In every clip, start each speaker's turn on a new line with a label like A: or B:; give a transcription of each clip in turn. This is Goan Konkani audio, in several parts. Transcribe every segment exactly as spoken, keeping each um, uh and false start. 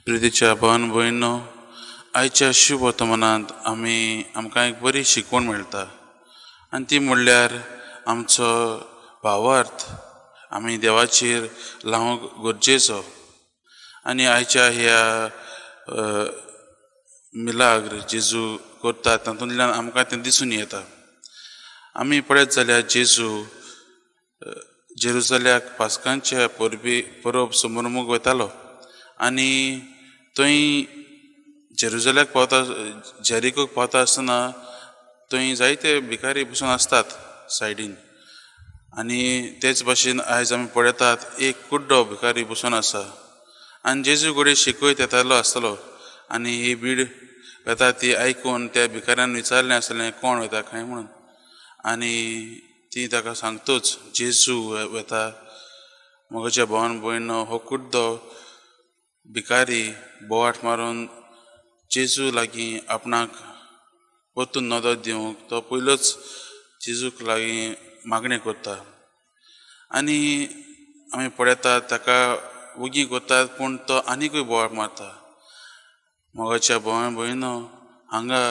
A: प्रितीच्या भावान भयणो, आयच्या शुभ वर्तमानांत आमी आमकां एक बरी शिकवण मेळटा आनी ती म्हणल्यार आमचो भावार्थ आमी देवाचेर लावंक गरजेचो. आनी आयच्या ह्या मिलाग्र जेजू करता तातूंतल्यान आमकां तें दिसून येता. आमी पळयत जाल्यार जेजू जेरुजल्याक पास्कांच्या परबी परब समारंभाक वतालो आनी थंय जेरुजल्याक पावता, जेरिकोक पावता आसतना थंय जायते भिकारी बसून आसतात सायडीन. आनी तेच भाशेन आयज आमी पळयतात एक कुड्डो भिकारी बसून आसा आनी जेजू कडेन शिकयत येतालो आसतलो आनी ही भीड वेता ती आयकून त्या भिकाऱ्यान विचारलें आसलें कोण वता काय म्हणून, आनी ती ताका सांगतूच जेजू वता. म्हज्या भावान भयणो, हो कुड्डो भिकारी बोवाट मारून जेजू लागीं आपणाक परतून नदर दिवंक तो पयलोच जेजूक लागीं मागणें करता. आनी आमी पळयतात ताका वगी करतात पूण तो आनीकूय बोवाट मारता. मोगाच्या भावान भयणो, हांगा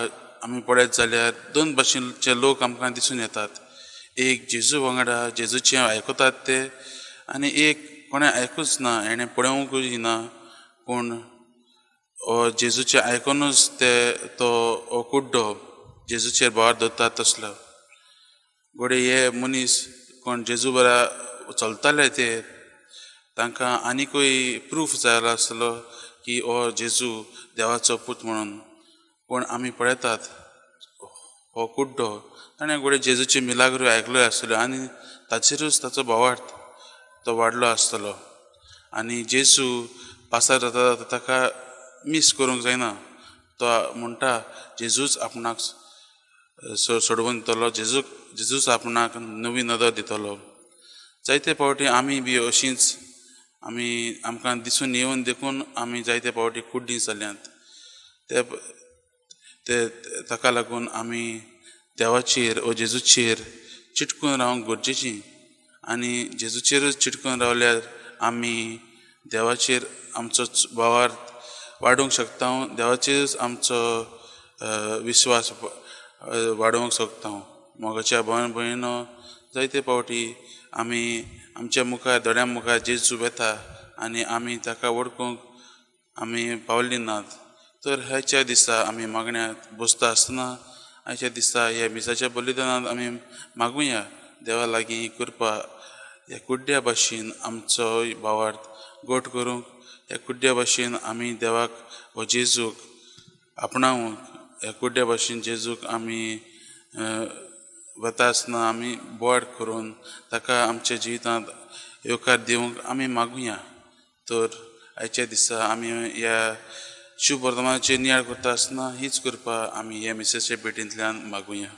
A: आमी पळयत जाल्यार दोन भाशेचे लोक आमकां दिसून येतात. एक जेजू वांगडा जेजूचें आयकतात ते आनी एक कोणें आयकूच ना, हेणें पळोवंकूय ना, पूण जेजूचें आयकुनूच ते तो कुड्डो जेजूचेर भार दवरता तसलो. घडये हे मनीस कोण जेजू बरा चलताले ते तांकां आनिकूय प्रूफ जाय आसलो की हो जेजू देवाचो पूत म्हणून. पूण आमी पळयतात हो कुड्डो ताणें घडये जेजूची मिलाग्रो आयकल्यो आसतल्यो आनी ताचेरूच ताचो भावार्थ तो वाडलो आसतलो. आनी जेजू पासार जाता जाता ताका मीस करूंक जायना, तो म्हणटा जेजूच आपणाक सोडोवन दितलो, जेजूक जेजूच आपणाक नवी नदर दितलो. जायते फावटी आमी बी अशींच आमी आमकां दिसून येवन देखून आमी जायते फावटी कुड्डीं जाल्यांत. ते ते ताका लागून आमी देवाचेर ओ जेजूचेर चिटकून रावंक गरजेची आनी जेजूचेरूच चिटकून रावल्यार आमी देवाचेर आमचो भावार्थ वाडोवंक शकता, देवाचेरूच आमचो विश्वास वाडोवंक शकता. मोगाच्या भावान भयणो, जायते फावटी आमी आमच्या मुखार दोळ्यां मुखार जेजू वेता आनी आमी ताका वळखूंक आमी पावली नात. तर ह्याच्या दिसा आमी मागण्यांत बसता आसतना आयच्या दिसा ह्या मिसाच्या बलिदानांत आमी मागुया देवा लागीं कृपा ह्या कुड्ड्या भाशेन आमचो भावार्थ गोट करूंक, ह्या कुड्ड्या भाशेन आमी देवाक हो जेजूक आपणावंक, ह्या कुड्ड्या भाशेन जेजूक आमी वता आसतना आमी बोवाळ करून ताका आमच्या जिवितांत येवकार दिवंक आमी मागुया. तर आयच्या दिसा आमी ह्या शुभ वर्तमानाचेर नियाळ करता आसतना हीच कृपा आमी ह्या मिसाच्या भेटींतल्यान मागुया.